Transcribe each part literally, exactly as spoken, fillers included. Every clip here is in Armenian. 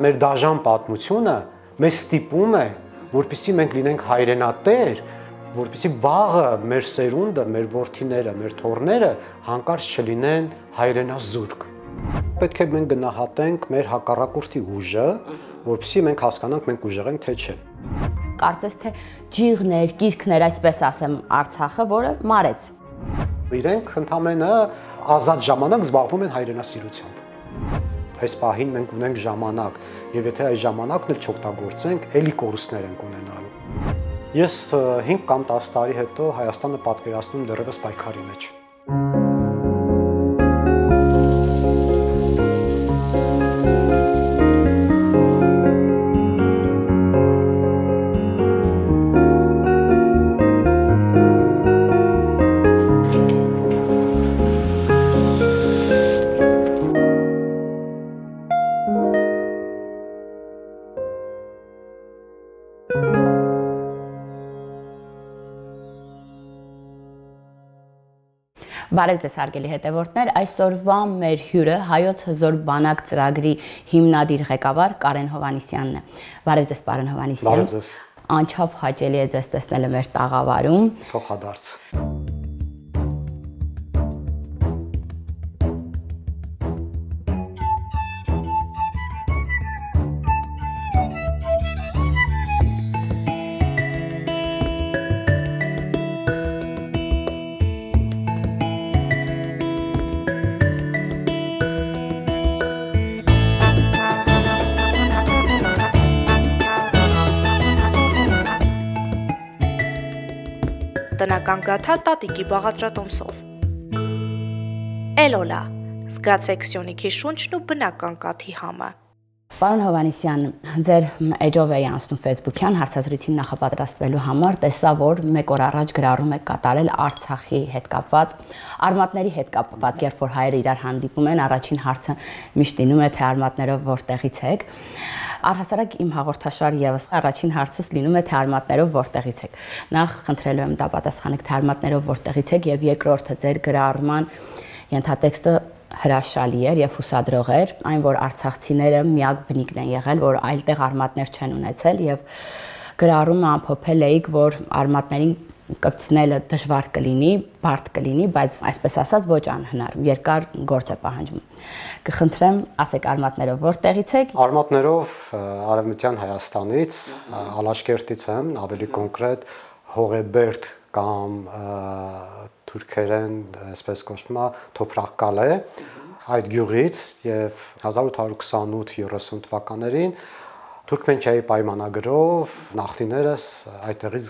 Մեր դաժան պատմությունը մեզ ստիպում է, որպեսզի մենք լինենք հայրենատեր, որպեսզի վաղը մեր սերունդը, մեր որդիները, մեր թոռները հանկարծ չլինեն հայրենազուրկ։ Պետք է մենք գնահատենք մեր հակառակորդի ուժը, որպեսզի մենք հասկանանք մենք ուժեղ ենք թե չէ։ Կարծես թե ջիղներ, կիրքներ, այսպես ասեմ, Արցախը, որը մարեց։ Իրենք ընդամենը ազատ ժամանակ զբաղվում են հայրենասիրությամբ։ Այս պահին մենք ունենք ժամանակ, եւ եթե այս ժամանակն էլ չօգտագործենք, էլի կորուստներ ենք ունենալու։ Ես հինգ կամ տասը տարի հետո Հայաստանը պատկերացնում դեռևս պայքարի մեջ։ Բարև ձեզ հարգելի հետևորդներ, այսօրվա մեր հյուրը Հայոց հզոր բանակ ծրագրի հիմնադիր ղեկավար Կարեն Հովհաննիսյանն է։ Բարև ձեզ, պարոն Հովհաննիսյան։ Բարև ձեզ։ Անչափ հաճելի է ձեզ տեսնելը մեր տաղավարում։ Փոխադարձ։ Տնական գաթա տատիկի բաղադրատոմսով։ Էլոլա, զգացեք Սյունիքի շունչն ու բնական կաթի համը։ Պարոն Հովհաննիսյան, ձեր էջով էի անցնում Facebook-յան հարցազրույցին նախապատրաստվելու համար, տեսա, որ մեկ օր առաջ գրառում եք կատարել Արցախի հետ կապված, արմատների հետ կապված, երբ որ հայերը իրար հանդիպում են, առաջին հարցը միշտ լինում է, թե արմատներով որտեղից եք։ Առհասարակ իմ հաղորդաշար եւս առաջին հարցս լինում է թե արմատներով որտեղից եք։ Նախ խնդրելու եմ դա պատասխանեք թե արմատներով որտեղից եք եւ երկրորդը ձեր գրառման ենթատեքստը հրաշալի էր եւ հուսադրող էր, այն որ արցախցիները միակ բնիկն են եղել, որ այլտեղ արմատներ չեն ունեցել եւ գրառումը ամփոփել էիք, որ արմատներին կպցնելը դժվար կլինի, բարդ կլինի, բայց այսպես ասած ոչ անհնար, երկար գործ է պահանջում։ Կխնդրեմ, ասեք արմատներով որտեղից եք։ Արմատներով Արևմտյան Հայաստանից, Ալաշկերտից եմ, ավելի կոնկրետ Հողեբերդ կամ թուրքերեն, այսպես կոչվում է, Թոփրախկալե, այդ գյուղից եւ հազար ութ հարյուր քսանութ երեսուն թվականներին Թուրքմենչիայի պայմանագրով նախնիներս այդտեղից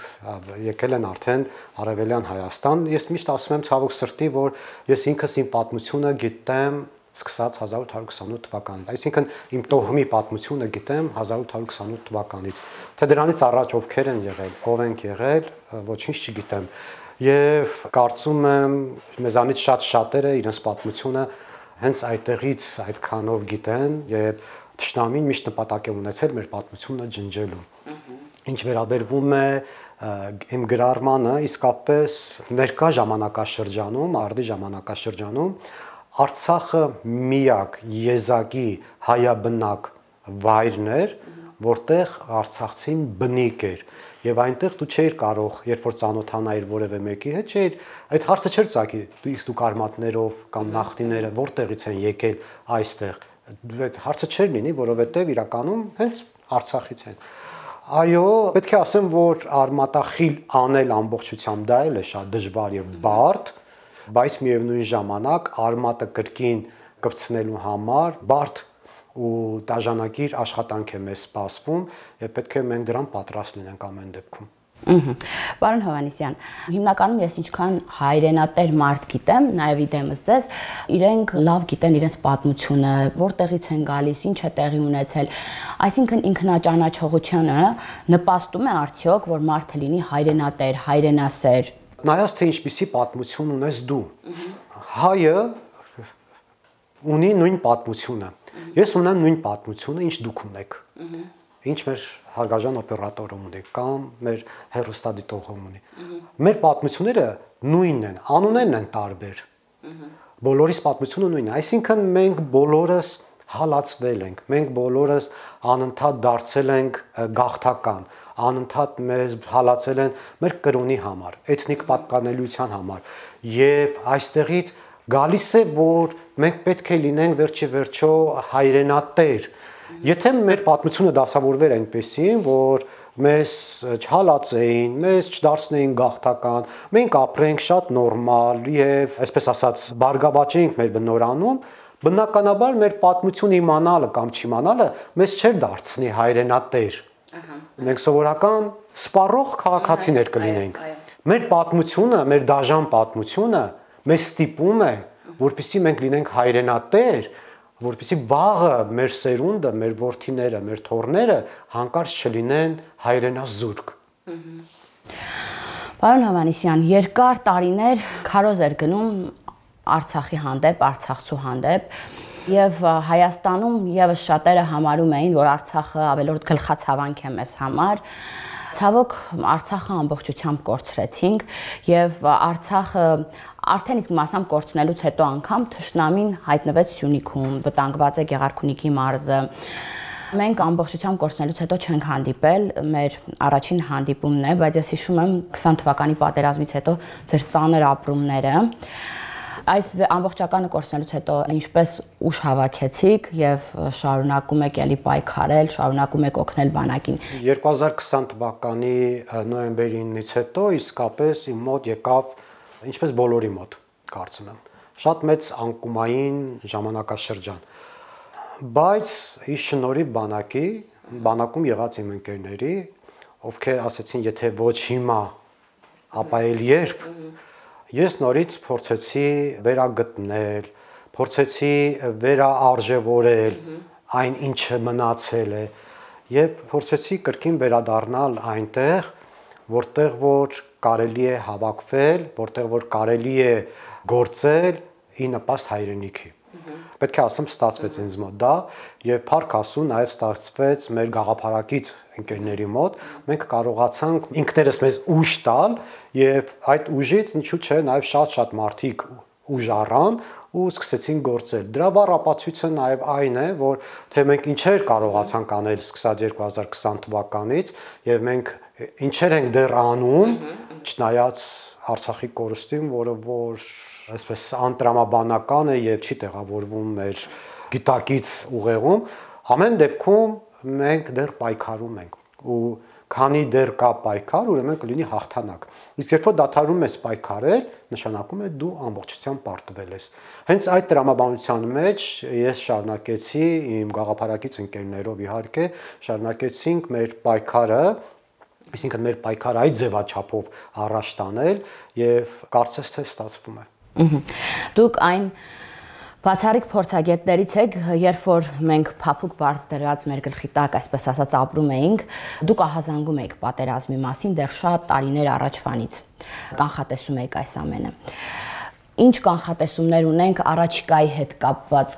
եկել են արդեն Արևելյան Հայաստան։ Ես միշտ ասում եմ ցավոք սրտի, որ ես ինքս իմ պատմությունը գիտեմ սկսած հազար ութ հարյուր քսանութ թվականից, այսինքն իմ տոհմի պատմությունը գիտեմ հազար ութ հարյուր քսանութ թվականից, թե դրանից առաջ ովքեր են եղել, ով են եղել, ոչինչ չգիտեմ, եւ կարծում եմ մեզանից շատ շատերը իրենց պատմությունը հենց այդտեղից այդքանով գիտեն եւ Թշնամին միշտ նպատակ է ունեցել մեր պատմությունը ջնջելու։ Ինչ վերաբերվում է իմ գրառմանը, իսկապես ներկա ժամանակաշրջանում, արդի ժամանակաշրջանում Արցախը միակ եզակի հայաբնակ վայրն էր, որտեղ արցախցին բնիկ էր եւ այնտեղ դու չէիր կարող, երբ որ ծանոթանայիր որևէ մեկի հետ, չէիր, այդ հարցը չէր ծագի, դու իսկ դուք արմատներով կամ նախնիները որտեղից են եկել այստեղ, այդ հարցը չէր լինի, որովհետեւ իրականում հենց Արցախից են։ Այո, պետք է ասեմ, որ արմատախիլ անել ամբողջությամբ դա էլ է շատ դժվար եւ բարդ, բայց միևնույն ժամանակ արմատը կրկին կպցնելու համար բարդ ու դաժանակիր աշխատանք է մեզ սպասվում եւ պետք է մենք դրան պատրաստ լինենք ամեն դեպքում։ Պարոն Հովհաննիսյան, հիմնականում ես ինչքան հայրենատեր մարդ գիտեմ, նաեւ իդեմս ձեզ, իրենք լավ գիտեն իրենց պատմությունը, որտեղից են գալիս, ինչ է տեղի ունեցել, այսինքն ինքնաճանաչողությունը նպաստում է արդյոք, որ մարդը լինի հայրենատեր, հայրենասեր։ Նայած թե ինչպիսի պատմություն ունես դու։ Հայը ունի նույն պատմությունը։ Ես ունեմ նույն պատմությունը, ինչ դուք ունեք։ Ինչ մեր հարգարժան օպերատորը ունի կամ մեր հեռուստադիտողը ունի։ Մեր պատմությունները նույնն են, անուններն են տարբեր։ Բոլորիս պատմությունը նույնն է, այսինքն մենք բոլորս հալածվել ենք, մենք բոլորս անընդհատ դարձել ենք գաղթական, անընդհատ մեզ հալածել են մեր կրոնի համար, էթնիկ պատկանելիության համար, եւ այստեղից գալիս է, որ մենք պետք է լինենք վերջի վերջո հայրենատեր։ Եթե մեր պատմությունը դասավորվեր այնպեսին, որ մեզ չհալածեին, մեզ չդարձնեին գաղթական, մենք ապրենք շատ նորմալ եւ, այսպես ասած, բարգավաճեինք մեր բնորանում, բնականաբար մեր պատմությունը իմանալը կամ չիմանալը մեզ չէր դարձնի հայրենատեր։ Մենք սովորական սպառող քաղաքացիներ կլինենք։ Մեր պատմությունը, մեր դաժան պատմությունը մեզ ստիպում է, որպեսզի մենք լինենք հայրենատեր, որպեսզի վաղը մեր սերունդը, մեր որդիները, մեր թոռները հանկարծ չլինեն հայրենազուրկ։ Պարոն Հովհաննիսյան, երկար տարիներ քարոզ էր գնում Արցախի հանդեպ, Արցախցու հանդեպ, եւ Հայաստանում եւս շատերը համարում էին, որ Արցախը ավելորդ գլխացավանք է մեզ համար։ Ցավոք Արցախը ամբողջությամբ կորցրեցինք եւ Արցախը արդեն իսկ մասամբ կորցնելուց հետո անգամ թշնամին հայտնվեց Սյունիքում, վտանգված է Գեղարքունիքի մարզը։ Մենք ամբողջությամբ կորցնելուց հետո չենք հանդիպել, մեր առաջին հանդիպումն է, բայց ես հիշում եմ քսան թվականի պատերազմից հետո ձեր ծանր ապրումները։ Այս ամբողջականը կորցնելուց հետո ինչպես ուժ հավաքեցիք եւ շարունակում եք ելի պայքարել, շարունակում եք օգնել բանակին։ երկու հազար քսան թվականի նոյեմբերի ինից հետո իսկապես իմ մոտ եկավ, ինչպես բոլորի մոտ, կարծում եմ, շատ մեծ անկումային ժամանակաշրջան։ Բայց իս շնորհիվ բանակի, բանակում եղած իմ ընկերների, ովքեր ասեցին, եթե ոչ հիմա, ապա էլ երբ, ես նորից փորձեցի վերագտնել, փորձեցի վերաարժևորել այն ինչը մնացել է եւ փորձեցի կրկին վերադառնալ այնտեղ, որտեղ որ կարելի է հավաքվել, որտեղ որ կարելի է գործել ի նպաստ հայրենիքի։ Պետք է ասեմ, ստացվեց ինձ մոտ դա եւ փառք Աստծո նաեւ ստացվեց մեր գաղափարակից ընկերների մոտ, մենք կարողացանք ինքներս մեզ ուժ տալ եւ այդ ուժից ինչու՞ չէ նաեւ շատ-շատ մարդիկ ուժ առան ու սկսեցին գործել։ Դրա բառ ապացույցը նաեւ այն է, որ թե մենք ինչեր կարողացանք անել սկսած երկու հազար քսան թվականից եւ մենք ինչեր ենք դեռ անում, չնայած Արցախի կորստին, որը որ այսպես անտրամաբանական է եւ չի տեղավորվում մեր գիտակից ուղեղում, ամեն դեպքում մենք դեռ պայքարում ենք ու քանի դեռ կա պայքար, ուրեմն կլինի հաղթանակ։ Իսկ երբ որ դադարում ես պայքարել, նշանակում է դու ամբողջությամբ պարտվել ես։ Հենց այդ տրամաբանության մեջ ես շարունակեցի իմ գաղափարակից ընկերներով իհարկե, շարունակեցինք մեր պայքարը, այսինքն մեր պայքարը այդ ձևաչափով առաջ տանել եւ կարծես թե ստացվում է։ Դուք այն բացառիկ փորձագետներից եք, երբ որ մենք փափուկ բարձ դրած մեր գլխի տակ, այսպես ասած, ապրում էինք, դուք ահազանգում եք պատերազմի մասին դեռ շատ տարիներ առաջվանից։ Կանխատեսում եք այս ամենը։ Ինչ կանխատեսումներ ունենք առաջիկայի հետ կապված։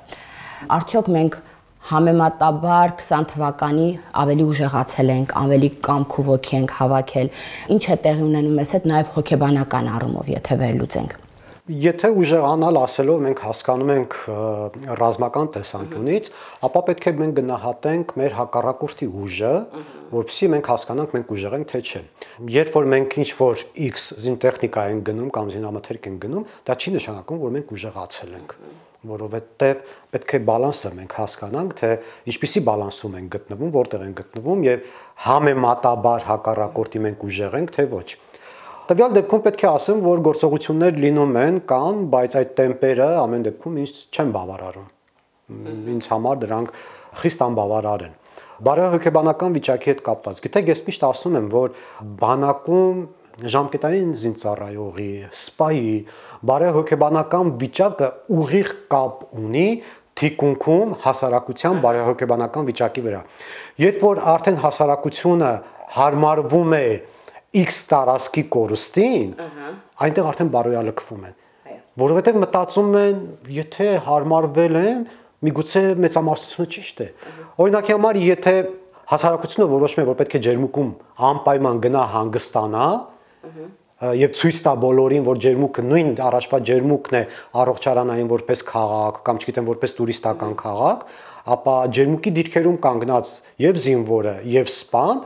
Արդյոք մենք համեմատաբար քսան թվականի ավելի ուժեղացել ենք, ավելի կամք ու ոգի ենք հավաքել։ Ինչ է տեղի ունենում մեզ հետ նաև հոգեբանական առումով, եթե վերլուծենք։ Եթե ուժեղանալ ասելով մենք հասկանում ենք ռազմական տեսանկյունից, ապա պետք է մենք գնահատենք մեր հակառակորդի ուժը, որովհետեւ մենք հասկանանք մենք ուժեղ ենք թե չէ։ Երբ որ մենք ինչ որ X զինտեխնիկա ենք գնում կամ զինամթերք ենք գնում, դա չի նշանակում, որ մենք ուժեղացել ենք, որովհետեւ պետք է բալանսը մենք հասկանանք, թե ինչպիսի բալանսում ենք գտնվում, որտեղ ենք գտնվում եւ համեմատաբար հակառակորդի մենք ուժեղ ենք թե ոչ։ Տվյալ դեպքում պետք է ասեմ, որ գործողություններ լինում են կան, բայց այդ տեմպերը ամեն դեպքում ինձ չեն բավարարում։ Ինձ համար դրանք խիստ անբավարար են։ Բարոյահոգեբանական վիճակի հետ կապված։ Գիտեք, ես միշտ ասում եմ, որ բանակում ժամկետային զինծառայողի, սպայի բարոյահոգեբանական վիճակը ուղիղ կապ ունի թիկունքում հասարակության բարոյահոգեբանական վիճակի վրա։ Երբ որ արդեն հասարակությունը հարմարվում է X տարածքի կորստին, այնտեղ արդեն բարոյալքվում են, որովհետև մտածում են, եթե հարմարվել են, միգուցե մեծամասնությունը ճիշտ է։ Օրինակի համար, եթե հասարակությունը որոշում է, որ պետք է ջերմուկում անպայման գնա հանգստանա, եւ ցույց տա բոլորին, որ ջերմուկը նույն առաջվա ջերմուկն է առողջարանային որպես քաղաք կամ չգիտեմ որպես տուրիստական քաղաք, ապա ջերմուկի դիրքերում կանգնած եւ զինվորը եւ սպան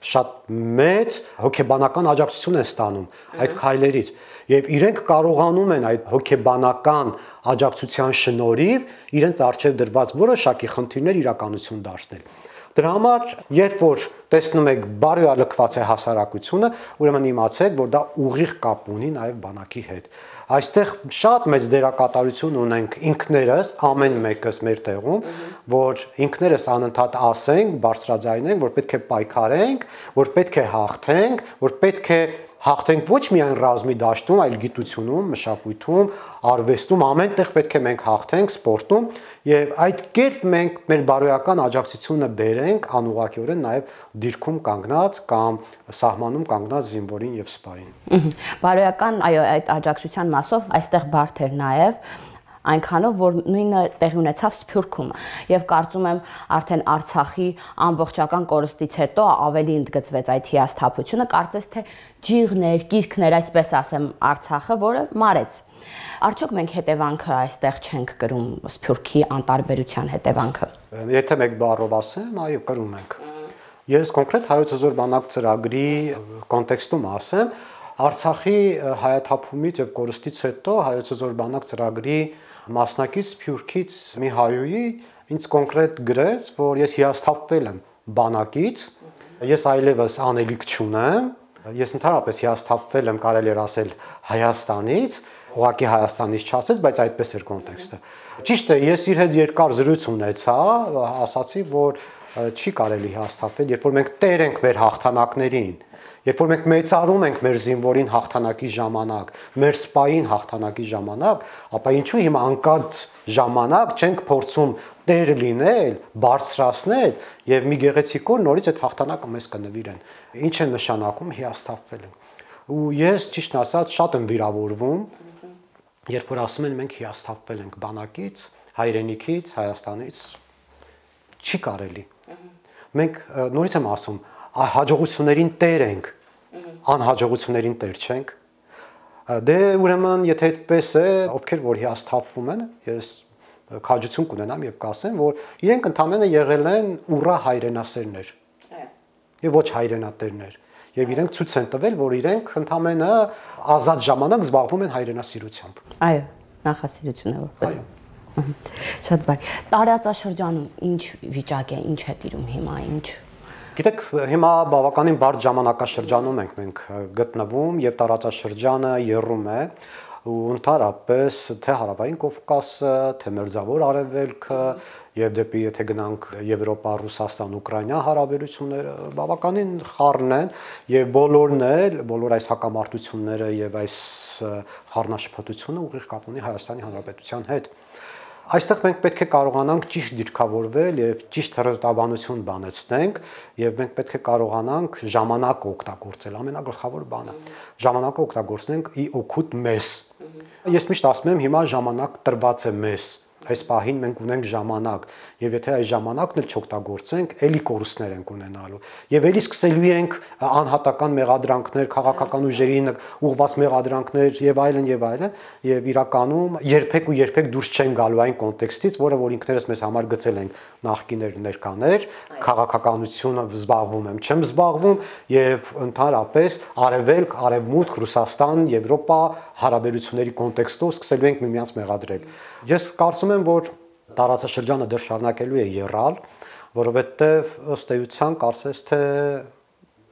շատ մեծ հոգեբանական աջակցություն են ստանում այդ քայլերից եւ իրենք կարողանում են այդ հոգեբանական աջակցության շնորհիվ իրենց արժեվ դրված որոշակի խնդիրներ իրականություն դարձնել։ Դրա համար, երբ որ տեսնում եք բարոյալքված է հասարակությունը, ուրեմն իմացեք, որ դա ուղիղ կապ ունի նաև բանակի հետ։ Այստեղ շատ մեծ դերակատարություն ունենք ինքներս, ամեն մեկս մեր տեղում, որ ինքներս անընդհատ ասենք, բարձրաձայնենք, որ պետք է պայքարենք, որ պետք է հաղթենք, որ պետք է հաղթենք ոչ միայն ռազմի դաշտում, այլ գիտությունում, մշակույթում, արվեստում, ամենտեղ պետք է մենք հաղթենք, սպորտում եւ այդ կերպ մենք մեր բարոյական աջակցությունը բերենք անուղղակիորեն նաեւ դիրքում կանգնած կամ սահմանում կանգնած զինվորին եւ սպային։ Բարոյական, այո, այդ աջակցության մասով այստեղ բարդ էր նաեւ այնքանով, որ նույնը տեղի ունեցավ Սփյուռքում եւ կարծում եմ արդեն Արցախի ամբողջական կորստից հետո ավելի ընդգծվեց այդ հիասթափությունը, կարծես թե ջիղներ, կիրքներ, այսպես ասեմ, Արցախը, որը մարեց։ Արդյոք մենք հետևանքը այստեղ չենք կրում Սփյուռքի անտարբերության հետևանքը։ Եթե մեկ բառով ասեմ, այո, կրում ենք։ Ես կոնկրետ հայոց հզոր բանակ ծրագրի կոնտեքստում ասեմ, Արցախի հայաթափումից եւ կորստից հետո հայոց հզոր բանակ ծրագրի մասնակից Սփյուռքից մի հայուհի ինձ կոնկրետ գրեց, որ ես հիասթափվել եմ բանակից, ես այլևս անելիք չունեմ, ես ընդհանրապես հիասթափվել եմ, կարելի է ասել Հայաստանից, ուղղակի Հայաստանից չասեց, բայց այդպես էր կոնտեքստը։ Ճիշտ է, ես իր հետ երկար զրույց ունեցա, ասացի, որ չի կարելի հիասթափվել, երբ որ մենք տեր ենք մեր հաղթանակներին, երբ որ մենք մեծարում ենք մեր զինվորին հաղթանակի ժամանակ, մեր սպային հաղթանակի ժամանակ, ապա ինչու հիմա անկած ժամանակ չենք փորձում տեր լինել, բարձրացնել եւ մի գեղեցիկ օր նորից այդ հաղթանակը մեզ կնվիրեն։ Ինչ է նշանակում հիասթափվել են։ Ու ես ճիշտ ասած շատ եմ վիրավորվում, երբ որ ասում են մենք հիասթափվել ենք բանակից, հայրենիքից, Հայաստանից, չի կարելի։ Մենք նորից եմ ասում, հաջողություններին տեր ենք, անհաջողություններին տեր չենք։ Դե ուրեմն, եթե այդպես է, ովքեր որ հիասթափվում են, ես քաջություն կունենամ եւ կասեմ, որ իրենք ընդամենը եղել են ուռա հայրենասերներ։ Եվ ոչ հայրենատերներ։ Եվ իրենք ցույց են տվել, որ իրենք ընդամենը ազատ ժամանակ զբաղվում են հայրենասիրությամբ։ Այո, նախասիրություն է որպես։ Շատ բարի։ Տարածաշրջանում ինչ վիճակ է, ինչ է տիրում հիմա, ինչ։ Գիտեք, հիմա բավականին բարդ ժամանակաշրջանում ենք մենք գտնվում եւ տարածաշրջանը եռում է ու ընդհանրապես թե հարավային Կովկասը, թե մերձավոր արևելքը եւ դեպի եթե գնանք Եվրոպա, Ռուսաստան, Ուկրաինա հարաբերությունները բավականին խառն են եւ բոլորն էլ, բոլոր այս հակամարտությունները եւ այս խառնաշփոթությունը ուղիղ կապ ունի Հայաստանի Հանրապետության հետ։ Այստեղ մենք պետք է կարողանանք ճիշտ դիրքավորվել եւ ճիշտ հերթաբանություն բանեցնենք եւ մենք պետք է կարողանանք ժամանակը օգտագործել, ամենագլխավոր բանը։ Ժամանակը օգտագործենք ի օգուտ մեզ։ Ես միշտ ասում եմ, հիմա ժամանակ տրված է մեզ։ Այս պահին մենք ունենք ժամանակ եւ եթե այս ժամանակն էլ չօգտագործենք, ելի կորուստներ ենք ունենալու եւ ելի սկսելու ենք անհատական մեղադրանքներ, քաղաքական ուժերին ուղղված մեղադրանքներ եւ այլն եւ այլն եւ իրականում երբեք ու երբեք դուրս չեն գալու այն կոնտեքստից, որը որ ինքներս մեզ համար գծել ենք նախկիներ ներկաներ, քաղաքականությունը զբաղվում եմ, չեմ զբաղվում եւ ընդհանրապես արևելք, արևմուտք, Ռուսաստան, Եվրոպա հարաբերությունների կոնտեքստով սկսելու ենք միմյանց մեղադրել։ Ես կարծում եմ, որ տարածաշրջանը դեռ շարունակելու է եռալ, որովհետև ըստ էության կարծես թե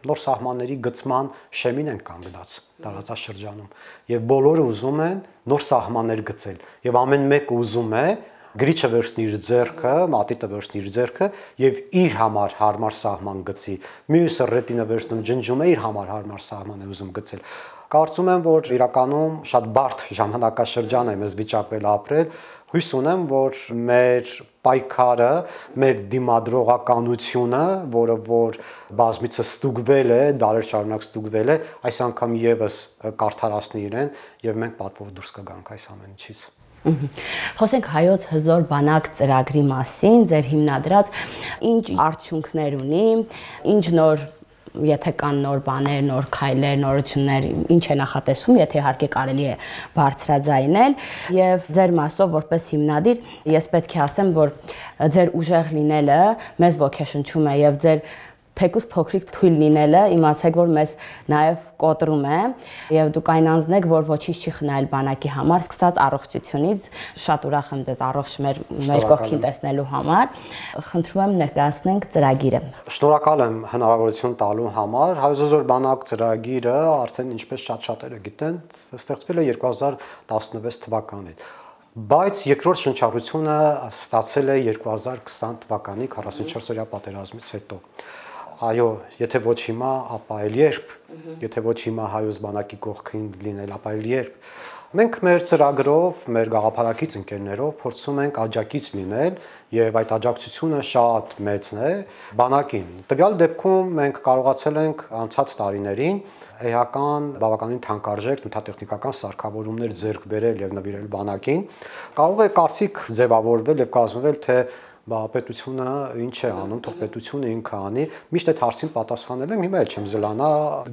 նոր սահմանների գծման շեմին են կանգնած տարածաշրջանում եւ բոլորը ուզում են նոր սահմաններ գծել եւ ամեն մեկը ուզում է գրիչը վերցնի իր ձեռքը, մատիտը վերցնի իր ձեռքը եւ իր համար հարմար սահման գծի։ Մյուսը ռետինը վերցնում ջնջում է իր համար հարմար սահման է ուզում գծել։ Կարծում եմ, որ իրականում շատ բարդ ժամանակաշրջան է մեզ վիճակվել ապրել։ Հույս ունեմ, որ մեր պայքարը, մեր դիմադրողականությունը, որը որ բազմիցս ստուգվել է, դարեր շարունակ ստուգվել է, այս անգամ եւս կարդարացնի իրեն եւ մենք պատվով դուրս կգանք այս ամեն ինչից։ Խոսենք հայոց հզոր բանակ ծրագրի մասին, ձեր հիմնադրած ինչ արդյունքներ ունի, ինչ նոր եթե կան նոր բաներ, նոր քայլեր, նորություններ, ինչ է նախատեսում, եթե իհարկե կարելի է բարձրաձայնել, եւ ձեր մասով որպես հիմնադիր, ես պետք է ասեմ, որ ձեր ուժեղ լինելը մեզ ոգեշնչում է եւ ձեր թեկուզ փոքրիկ թույլ լինելը իմացեք, որ մեզ նաև կոտրում է եւ դուք այն անձն եք, որ ոչինչ չի խնայել բանակի համար, սկսած առողջությունից, շատ ուրախ եմ ձեզ առողջ մեր մեր կողքին տեսնելու համար։ Խնդրում եմ ներկայացնենք ծրագիրը։ Շնորհակալ եմ հնարավորություն տալու համար։ Հայոց Զոր բանակ ծրագիրը արդեն ինչպես շատ շատերը գիտեն, ստեղծվել է երկու հազար տասնվեց թվականին։ Բայց երկրորդ շնչառությունը ստացել է երկու հազար քսան թվականի քառասունչորսօրյա պատերազմից հետո։ Այո, եթե ոչ հիմա, ապա էլ երբ, եթե ոչ հիմա հայոց բանակի կողքին լինել, ապա էլ երբ։ Մենք մեր ծրագրով, մեր գաղափարակից ընկերներով փորձում ենք աջակից լինել եւ այդ աջակցությունը շատ մեծն է բանակին։ Տվյալ դեպքում մենք կարողացել ենք անցած տարիներին էական բավականին թանկարժեք նյութատեխնիկական սարքավորումներ ձեռք բերել եւ նվիրել բանակին։ Կարող է կարծիք ձևավորվել եւ կազմվել, թե բա պետությունը ինչ է անում, թող պետությունը ինքը անի, միշտ այդ հարցին պատասխանել եմ, հիմա էլ չեմ զլանա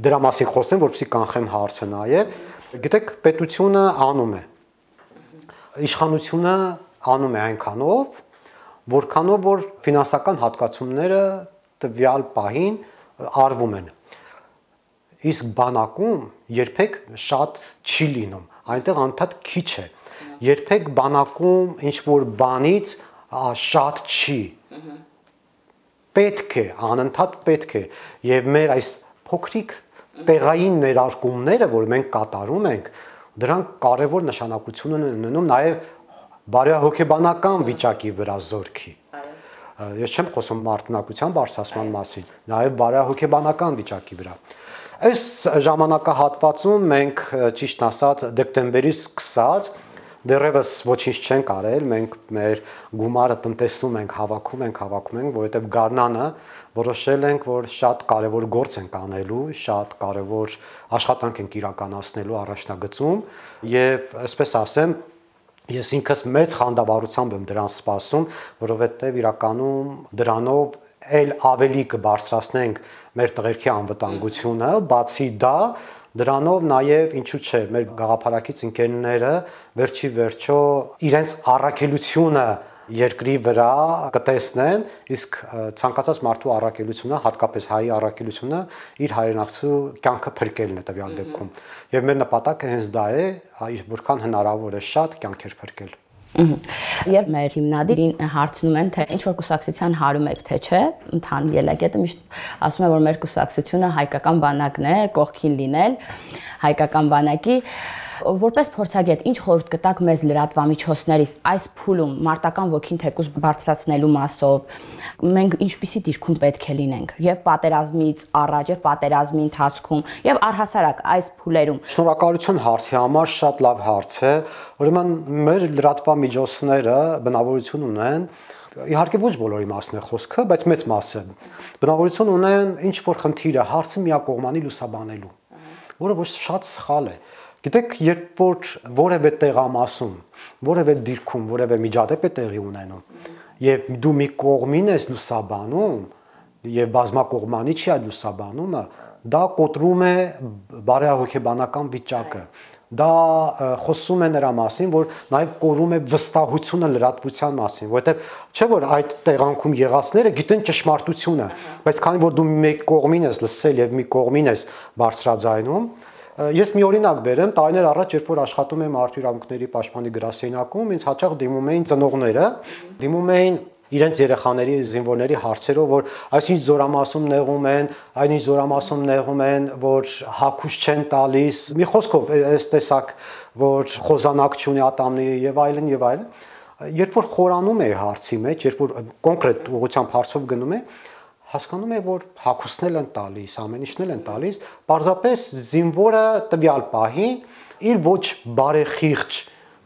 դրա մասին խոսեմ, որպեսզի կանխեմ հարցը նաև։ Գիտեք, պետությունը անում է։ Իշխանությունը անում է այնքանով, որքանով որ ֆինանսական հատկացումները տվյալ պահին արվում են։ Իսկ բանակում երբեք շատ չի լինում, այնտեղ անդադ քիչ է։ Երբեք բանակում ինչ որ բանից շատ չի, պետք է, անընդհատ պետք է, և մեր այս փոքրիկ տեղային ներարկումները, որ մենք կատարում ենք, դրանք կարևոր նշանակություն են ունենում նաև բարոյահոգեբանական վիճակի վրա զորքի։ Ես չեմ խոսում մարդնակության բարձրացման մասին, նաև բարոյահոգեբանական վիճակի վրա։ Այս ժամանակահատվածում մենք ճիշտ ասած դեկտեմբերից սկսած դեռևս ոչինչ չենք արել, մենք մեր գումարը տնտեսում ենք, հավաքում ենք, հավաքում ենք, որովհետև գարնանը որոշել ենք, որ շատ կարևոր գործ ենք անելու, շատ կարևոր աշխատանք ենք իրականացնելու առաջնագծում եւ այսպես ասեմ, ես ինքս մեծ խանդավառությամբ եմ դրան սպասում, որովհետև իրականում դրանով էլ ավելի կբարձրացնենք մեր տղերքի անվտանգությունը, բացի դա Դրանով նաև ինչու՞ չէ, մեր գաղափարակից ընկերները վերջի վերջո իրենց առաքելությունը երկրի վրա կտեսնեն, իսկ ցանկացած մարդու առաքելությունը, հատկապես հայի առաքելությունը իր հայրենակցու կյանքը փրկելն է տվյալ դեպքում։ Եվ մեր նպատակը հենց դա է, որքան հնարավոր է շատ կյանքեր փրկել։ Երբ մեր հիմնադիրին հարցնում են, թե ինչ որ կուսակցության հարում եք, թե չէ, ընդհանուր ելակետը միշտ ասում է, որ մեր կուսակցությունը հայկական բանակն է, կողքին լինել հայկական բանակի, որպես փորձագետ, ինչ խորհուրդ կտաք մեզ լրատվամիջոցներից այս փուլում մարտական ոգին թեկուզ բարձրացնելու մասով, մենք ինչպիսի դիրքում պետք է լինենք եւ պատերազմից առաջ եւ պատերազմի ընթացքում եւ առհասարակ այս փուլերում։ Շնորհակալություն հարցի համար, շատ լավ հարց է։ Ուրեմն մեր լրատվամիջոցները բնավորություն ունեն, իհարկե ոչ բոլորի մասն է խոսքը, բայց մեծ մասը բնավորություն ունեն ինչ որ խնդիրը, հարցը միակողմանի լուսաբանելու, որը ոչ շատ սխալ է։ Գիտեք, երբ որ որևէ տեղամասում, որևէ դիրքում, որևէ միջադեպ է տեղի ունենում, եւ դու մի կողմին ես լուսաբանում, եւ բազմակողմանի չի այդ լուսաբանումը, դա կոտրում է բարոյահոգեբանական վիճակը։ Դա խոսում է նրա մասին, որ նաև կորում է վստահությունը լրատվության մասին, որովհետև չէ որ այդ տեղանքում եղածները գիտեն ճշմարտությունը, բայց քանի որ դու մեկ կողմին ես լսել եւ մի կողմին ես բարձրաձայնում, ես մի օրինակ բերեմ, տարիներ առաջ, երբ որ աշխատում եմ Մարդու իրավունքների պաշտպանի գրասենյակում, ինձ հաճախ դիմում էին ծնողները, դիմում էին իրենց երեխաների, զինվորների հարցերով, որ այսինչ զորամասում նեղում են, այնինչ զորամասում նեղում են, որ հագուշ չեն տալիս, մի խոսքով այս տեսակ, որ խոզանակ չունի ատամնի եւ այլն եւ այլն։ Երբ որ խորանում է հարցի մեջ, երբ որ կոնկրետ ուղղությամբ հարցով գնում է, հասկանում է, որ հագուստն են տալիս, ամեն ինչն են տալիս, պարզապես զինվորը տվյալ պահին իր ոչ բարեխիղճ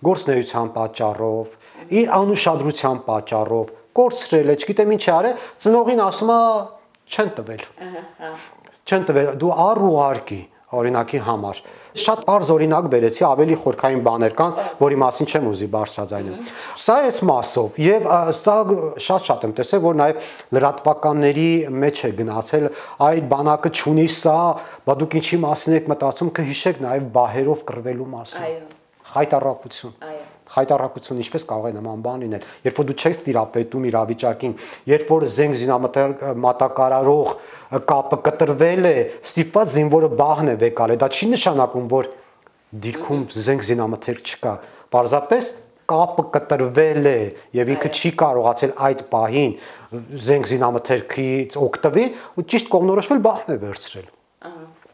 գործնեության պատճառով, իր անուշադրության պատճառով կորցրել է, չգիտեմ ինչ է արել, ծնողին ասում է չեն տվել։ Չեն տվել, դու առ ուղարկի, օրինակի համար։ Շատ բարձ օրինակ բերեցի, ավելի խորքային բաներ կան, որի մասին չեմ ուզի բարձրաձայնել։ Սա էս մասով եւ սա շատ-շատ եմ տեսել, որ նաեւ լրատվականների մեջ է գնացել, այդ բանակը չունի սա, բա դուք ինչի մասին եք մտածում, կհիշեք նաեւ բահերով կռվելու մասին։ Այո։ Խայտառակություն։ Այո։ Խայտառակություն ինչպես կարող է նման բան լինել, երբ որ դու չես տիրապետում իրավիճակին, երբ որ զենք զինամթերք մատակարարող կապը կտրվել է, ստիպված զինվորը բահն է վեկալ է, դա չի նշանակում, որ դիրքում զենք զինամթերք չկա, պարզապես կապը կտրվել է եւ ինքը չի կարողացել այդ պահին զենք զինամթերքից օգտվել ու ճիշտ կողմնորոշվել բահն է վերցրել։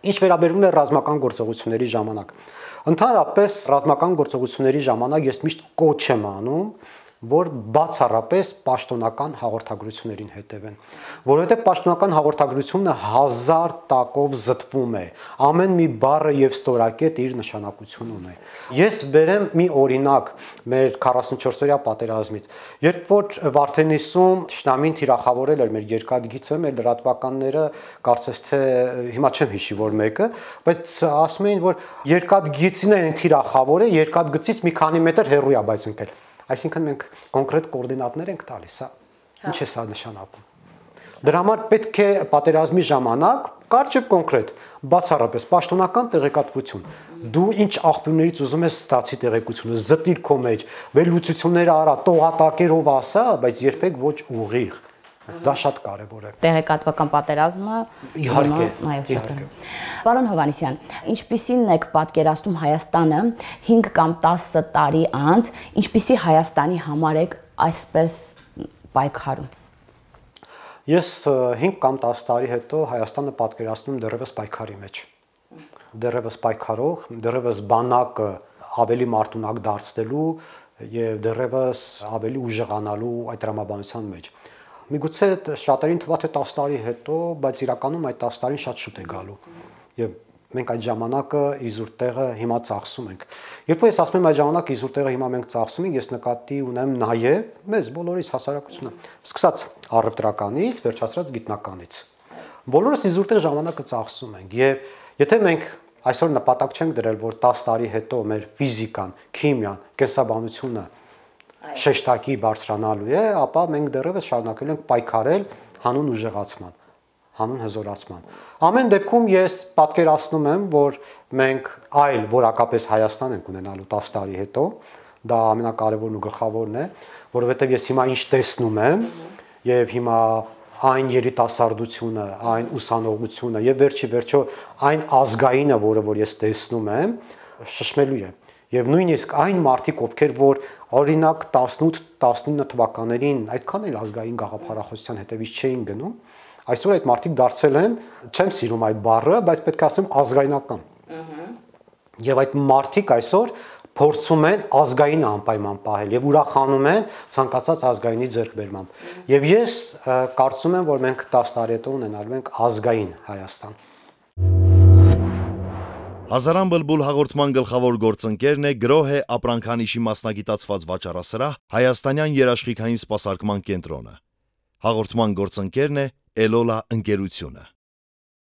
Ինչ վերաբերում է ռազմական գործողությունների ժամանակ, ընդհանրապես ռազմական գործողությունների ժամանակ ես միշտ կոչ եմ անում, որ բացառապես պաշտոնական հաղորդագրություններին հետևեն, որովհետև պաշտոնական հաղորդագրությունը հազար տակով զտվում է, ամեն մի բառը եւ ստորակետ իր նշանակություն ունի։ Ես բերեմ մի օրինակ մեր քառասունչորսօրյա պատերազմից, երբ որ Վարդենիսում Թշնամին թիրախավորել էր մեր երկաթգիծը, մեր լրատվականները կարծես թե հիմա չեմ հիշի որ մեկը, բայց ասում էին, որ երկաթգիծին են թիրախավորել, երկաթգծից մի քանի մետր հեռու է բայց ընկել։ Այսինքն մենք կոնկրետ կոորդինատներ ենք տալիս, հա։ Ինչ է սա նշանակում։ Դրա համար պետք է պատերազմի ժամանակ կարճ եւ կոնկրետ, բացառապես պաշտոնական տեղեկատվություն։ Դու ինչ աղբյուրներից ուզում ես ստացի տեղեկությունը, զտիր քո մեջ, վերլուծությունները արա, տողատակերով ասա, բայց երբեք ոչ ուղիղ։ Դա շատ կարևոր է։ Տեղեկատվական պատերազմը իհարկե, իհարկե։ Պարոն Հովհաննիսյան, ինչպիսին եք պատկերացնում Հայաստանը հինգ կամ տասը տարի անց, ինչպիսի Հայաստանի համար եք այսպես պայքարում։ Ես հինգ կամ տասը տարի հետո Հայաստանը պատկերացնում դեռևս պայքարի մեջ։ Դեռևս պայքարող, դեռևս բանակը ավելի մարտունակ դարձնելու եւ դեռևս ավելի ուժեղանալու այդ տրամաբանության մեջ։ Միգուցե շատերին թվա թե տասը տարի հետո, բայց իրականում այդ տասը տարին շատ շուտ է գալու։ Եվ մենք այդ ժամանակը իզուր տեղը հիմա ծախսում ենք։ Երբ որ ես ասում եմ այդ ժամանակ իզուր տեղը հիմա մենք ծախսում ենք, ես նկատի ունեմ նաև մեզ բոլորիս հասարակությունը, սկսած առևտրականից, վերջացրած գիտնականից։ Բոլորս իզուր տեղ ժամանակը ծախսում ենք եւ եթե մենք այսօր նպատակ չենք դրել, որ տասը տարի հետո մեր ֆիզիկան, քիմիան, կենսաբանությունը շեշտակի բարձրանալու է, ապա մենք դեռևս շարունակել ենք պայքարել հանուն ուժեղացման, հանուն հզորացման։ Ամեն դեպքում ես պատկերացնում եմ, որ մենք այլ որակապես Հայաստան ենք ունենալու տասը տարի հետո, դա ամենակարևորն ու գլխավորն է, որովհետև ես հիմա ինչ տեսնում եմ եւ հիմա այն երիտասարդությունը, այն ուսանողությունը եւ վերջի վերջո այն ազգայինը, որը որ ես տեսնում եմ, շշմելու է։ Եվ նույնիսկ այն մարդիկ, ովքեր որ օրինակ տասնութ տասնինը թվականներին այդքան էլ ազգային գաղափարախոսության հետևից չէին գնում, այսօր այդ մարդիկ դարձել են, չեմ սիրում այդ բառը, բայց պետք է ասեմ ազգայնական։ Եվ այդ մարդիկ այսօր փորձում են ազգային անպայման պահել եւ ուրախանում են ցանկացած ազգայինի ձեռքբերմամբ։ Եվ ես կարծում եմ, որ մենք տասը տարի հետո ունենալու ենք ազգային Հայաստան։ Հազարան բլբուլ հաղորդման գլխավոր գործընկերն է գրոհե ապրանքանիշի մասնագիտացված վաճառասրահ Հայաստանյան երաշխիքային սպասարկման կենտրոնը։ Հաղորդման գործընկերն է Էլոլա ընկերությունը։